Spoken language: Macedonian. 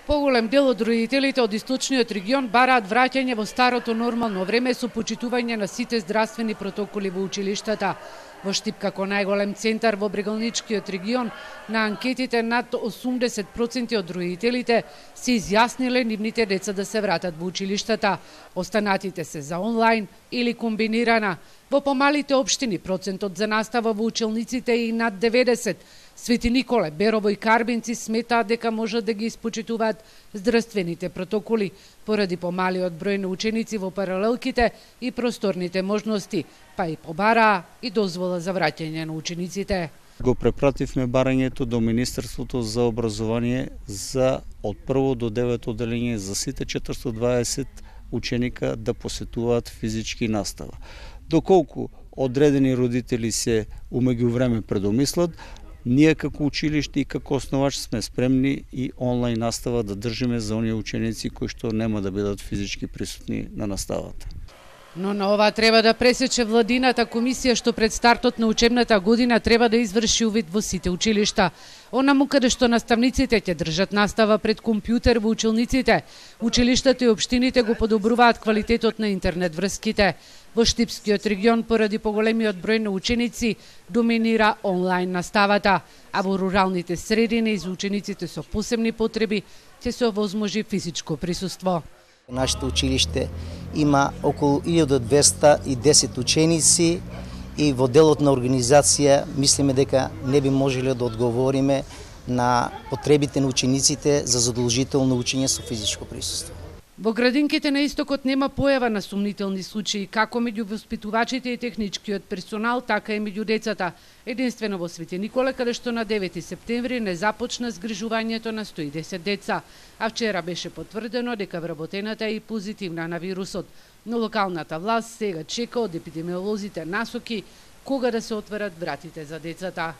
Поголем дел од родителите од источниот регион бараат враќање во старото нормално време со почитување на сите здравствени протоколи во училиштата. Во Штип, како најголем центар во Брегалничкиот регион, на анкетите над 80% од родителите се изјасниле нивните деца да се вратат во училиштата. Останатите се за онлайн или комбинирана. Во помалите општини процентот за настава во училниците е и над 90%. Свети Николе, Берово и Карбинци сметаат дека можат да ги испочитуваат здравствените протоколи поради помалиот број на ученици во паралелките и просторните можности, па и побараа и дозвола за враќање на учениците. Го препративме барањето до Министерството за образование за од 1 до 9 одделение за сите 420 ученика да посетуваат физички настава. Доколку одредени родители се умеѓувреме предомислат, ние како училиште и како основач сме спремни и онлайн настава да држиме за оние ученици кои што нема да бидат физички присутни на наставата. Но на ова треба да пресече владината комисија што пред стартот на учебната година треба да изврши увид во сите училишта. Онаму каде што наставниците ќе држат настава пред компјутер во училниците, училиштата и општините го подобруваат квалитетот на интернет врските. Во Штипскиот регион поради поголемиот број на ученици доминира онлайн наставата, а во руралните средини за учениците со посебни потреби ќе се овозможи физичко присуство. Нашето училиште има околу 1210 ученици и во делот на организација мислиме дека не би можеле да одговориме на потребите на учениците за задолжително учење со физичко присуство. Во градинките на истокот нема појава на сумнителни случаи, како меѓу воспитувачите и техничкиот персонал, така и меѓу децата. Единствено во Свети Николе, каде што на 9 септември не започна згрижувањето на 110 деца, а вчера беше потврдено дека вработената е и позитивна на вирусот. Но локалната власт сега чека од епидемиолозите насоки кога да се отворат вратите за децата.